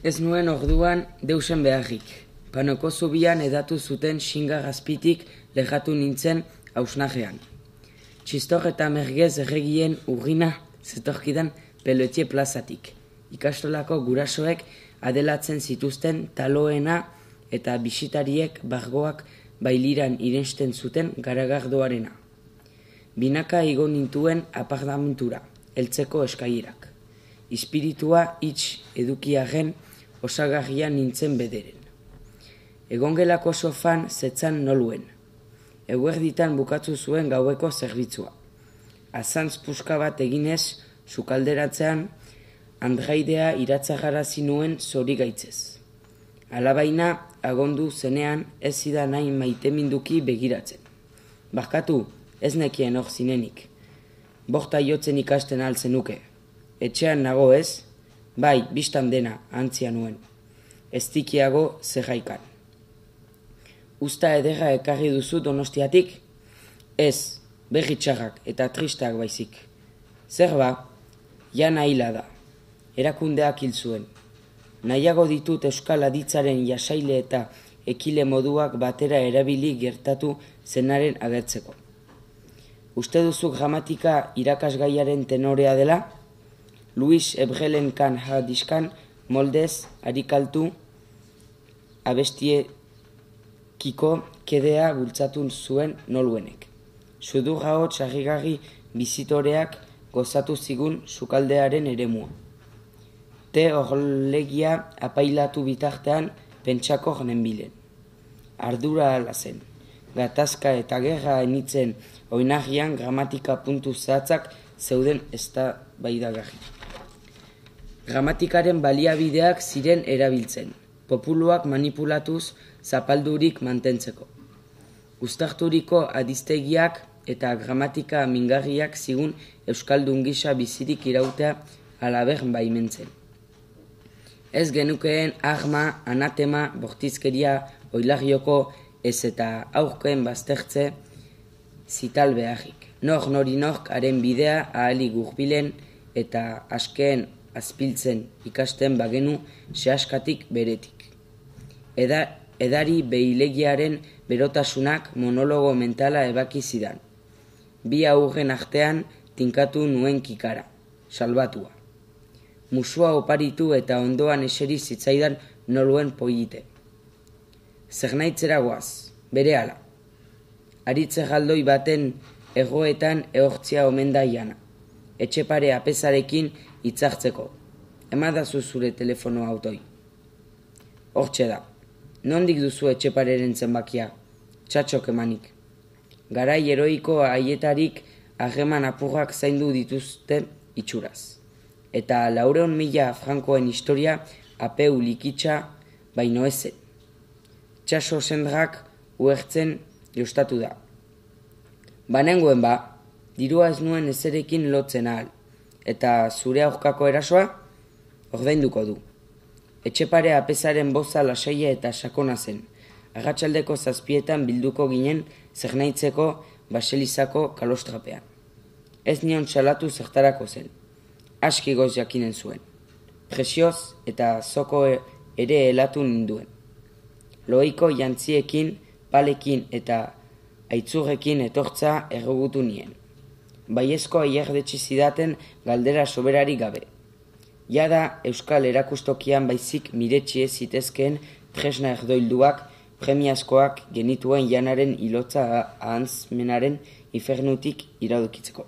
Ez nuen orduan deusen beharrik. Panoko zubian edatu zuten xinga gazpitik lehatu nintzen hausnajean. Txistor eta mergez erregien urgina zetorkidan Pelotie plazatik. Ikastolako gurasoek adelatzen zituzten taloena eta bisitariek bargoak bailiran irensten zuten garagardoarena. Binaka igo nintuen apartamentura, heltzeko eskailerak. Espiritua hitz edukiaren osagarria nintzen bederen. Egongelako sofan zetzan noluen. Eguerditan bukatzu zuen gaueko zerbitzua. Azantz puska bat eginez, sukalderatzean, andraidea iratzagarazi nuen zori gaitzez. Alabaina, agondu zenean ez zidan nahi maiteminduki begiratzen. Barkatu, ez nekien hor zinenik. Borta jotzen ikasten altzenuke. Etxean nago ez? Bai, bistan dena, antzia nuen. Ez tikiago zerraikan. Usta ederra ekarri duzu Donostiatik? Ez, berri txarrak eta tristak baizik. Zer ba? Jana hila da. Erakundeak hil zuen. Nahiago ditut euskal aditzaren jasaile eta ekile moduak batera erabili gertatu zenaren agertzeko. Uste duzu gramatika irakasgaiaren tenorea dela? Luis Ebrelen kan hadiskan moldez arikaltu abestiekiko kedea bultzatu zuen noluenek. Sudur ahots harrigarri bizitoreak gozatu zigun sukaldearen eremua. Te orlegia apailatu bitartean pentsako nenbilen. Ardura ala zen. Gatazka eta gerra enitzen oinarrian gramatika puntu zehatzak zeuden eztabaidagarri. Gramatikaren baliabideak ziren erabiltzen, populuak manipulatuz zapaldurik mantentzeko. Uztarturiko adiztegiak eta gramatika mingarriak zigun euskaldun gisa bizirik irautea alaber baimentzen. Ez genukeen arma, anatema, bortizkeria, oilagioko ez eta aurken baztertze zital beharrik. Nori nork haren bidea ahalik gurbilen eta askeen azpiltzen ikasten bagenu sehaskatik beretik. Edari behilegiaren berotasunak monologo mentala ebaki zidan. Bi aurren artean tinkatu nuen kikara, salbatua. Musua oparitu eta ondoan eseri zitzaidan noluen poite. Zernaitzera goaz, berehala. Aritze galdoi baten egoetan ehortzia omen da jana. Etxepare apesarekin hitzartzeko. Emadazu zure telefono autoi. Hortxe da. Nondik duzu etxepareren zenbakia? Txatxok emanik. Garai heroiko haietarik harreman apurrak zaindu dituzte itxuraz. Eta 400.000 frankoen historia apeu likitsa baino ezen. Txaso sendrak uhertzen jostatu da. Banengoen ba, dirua ez nuen ezerekin lotzen ahal. Eta zure aurkako erasoa, ordainduko du. Etxepare apesaren boza lasaia eta sakona zen. Arratsaldeko 7 bilduko ginen zernaitzeko baselizako kalostrapean. Ez nion salatu zertarako zen. Aski goz jakinen zuen. Presioz eta zoko ere helatu ninduen. Loiko jantziekin, palekin eta aitzurrekin etortza errogutu nien. Baiezko aierdetsi zidaten galdera soberari gabe. Jada euskal erakustokian baizik miretsi ez zitezkeen tresna erdoilduak premiazkoak genituen janaren ilotza ahantzmenaren infernutik iradokitzeko.